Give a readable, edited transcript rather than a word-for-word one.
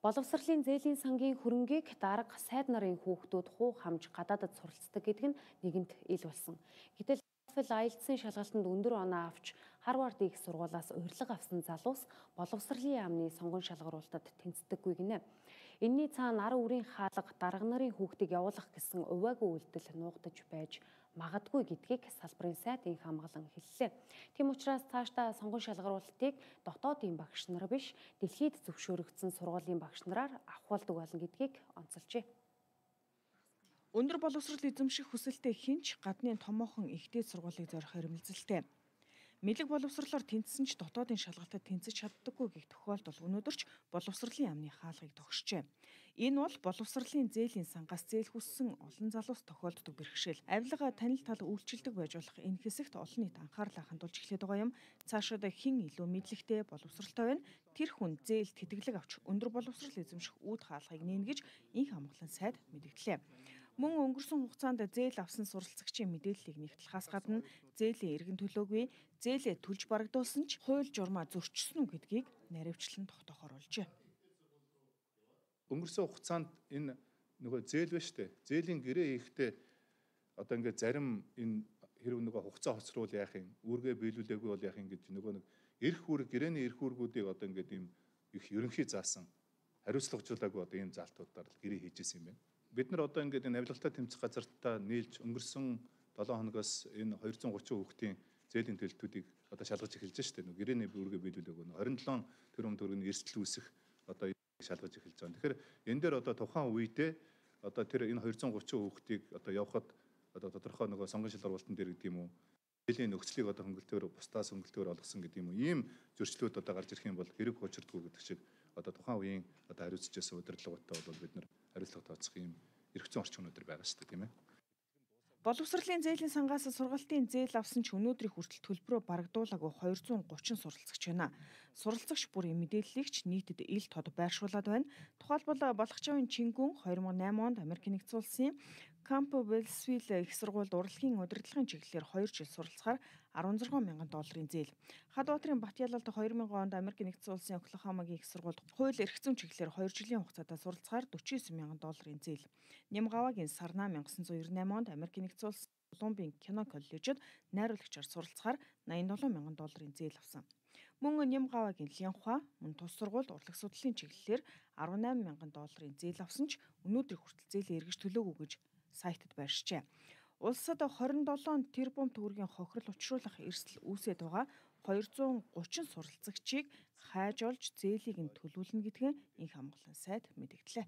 Боловсролын зээлийн сангийн хөрөнгийг дарга сайд нарын хүүхдүүд хуу хамж гадаадад суралцдаг гэдэг нь нэгэнт ил болсон. Гэтэл IELTS-ийн шалгалтанд өндөр оноо авч Harvard их сургуулиас урилга авсан залуус боловсролын яамны сонгон шалгаруулалтад тэнцдэггүй гинэ. Энийний цаана ар үрийн хаалга дарга нарын хүүхдийг явуулах гэсэн увайгүй үйлдэл нуугдаж байж магадгүй гэдгийг салбарын сайд инх хамгаалан хэллээ. Тийм учраас цаашдаа сонгон шалгаруулалтыг дотоодын багш нар биш, дэлхийд зөвшөөрөгдсөн сургуулийн багш нараар авахулдаг болно гэдгийг онцолжээ. Өндөр боловсрол эзэмших хүсэлтэй хинч гадны томоохон ихтэй сургуулийг зорих эрмэлзэлтэй. Мэдлэг боловсролоор тэнцсэн ч дотоодын шалгалтад тэнцэж чаддаггүй гэх тохиолдол өнөөдөр ч боловсролын яамны хаалгыг тогшжээ. Энэ бол боловсролын зээлийн сангаас зээл хүссэн олон залуус тохиолддог бэрхшээл. Авилга танил тал үйлчилдэг байж болох энэ хэсэгт олон нийт анхаарлаа хандуулж эхлэх байгаа юм. Цаашид хэн илүү мэдлэгтэй боловсролтой байна? Тэр хүн зээлд тэтгэлэг авч өндөр боловсрол эзэмших үүд хаалгыг нээнэ гэж инх хамгаалан сайд мэдгдлээ. Мөн өнгөрсөн хугацаанд зээл авсан суралцагчийн мэдээллийг нэгтлэхээс гадна зээлийн эргэн төлөөгүй, зээлээ төлж барагдуулсан ч хууль журмаа зөрчсөн үү гэдгийг наривчлан тогтоохоор олжээ. Өнгөрсөн хугацаанд энэ нөгөө зээл байна шүү дээ. Зээлийн гэрээ хийхдээ одоо ингээд зарим энэ хэрэг нөгөө хугацаа хоцрол яах юм, үүргээ биелүүлээгүй бол яах юм гэж нөгөө нэг эрх үүрэг, гэрээний эрх үүргүүдийг одоо ингээд ийм их ерөнхий заасан хариуцлагажуулаагүй одоо ийм залтуудаар гэрээ хийжсэн юм байна. Бид нар одоо ингээд энэ авилгалтай тэмцэх газартаа нийлж өнгөрсөн 7 хоногоос энэ 230 хүүхдийн зээлийн төлөлтүүдийг одоо шалгаж эхэлж байна шүү дээ. Гэрээний үүргээ биелүүлээгүй 27 тэрбум төгрөгийн эрсдэл үүсэх одоо шалгаж эхэлж байгаа. Тэгэхээр энэ дээр одоо тухайн үедээ одоо тэр энэ 230 хүүхдийг одоо явахад одоо тодорхой нөгөө сонгон шалгаруулалтын дээр гэдэг юм уу, зээлийн нөхцөлийг одоо хөнгөлтөөр бусдаас хөнгөлтөөр олгосон гэдэг юм уу, ийм зөрчлүүд одоо гарч ирэх юм бол хэрэг учирдгүй гэдэг шиг одоо тухайн үеийн одоо хариуцж байсан удирдлагуудтай бол бид нар хариуцлага тооцох юм эрх зүйн орчин өнөдр байгаа шүү дээ, тийм ээ. Боловсролын зээлийн сангаас сургалтын зээл авсан ч өнөөдрийн хүртэл төлбөрөө барагдуулаагүй 230 суралцагч байна. Суралцагч бүрийн мэдээллийг ч нийтэд ил тод байршуулад байна. Тухайлбал Балхачаавын Чингүн 2008 онд Америк нэгдсэн улсын Campbell-Wells их сургуульд урлагийн удирдлагын чиглэлээр 2 жил суралцахаар $16,000 зээл. Хадбаатарын Батялалд 2000 онд Америк нэгдсэн улсын Оклахомагийн их сургуульд хууль эрх зүйн чиглэлээр 2 жилийн хугацаанд суралцахаар $49,000 зээл. Нямгавагийн Сарна 1998 онд Америк нэгдсэн улсын Колумбийн кино коллежид найруулагчаар суралцахаар $87,000 зээл авсан. Мөн Нямгавагийн Лянхуа мөн тус сургуульд урлаг судлалын чиглэлээр $18,000 зээл авсан ч өнөөдрийн хүртэл зээлээ эргэж төлөөгүй гэж сайтад байршжээ. Улсад 27 тэрбум төгрөгийн хохирол учруулах эрсдэл үүсээд байгаа 230 суралцагчийг хайж олж зээлийг нь төлүүлнэ гэдгийг инх хамгаалан сайд мэдгдлээ.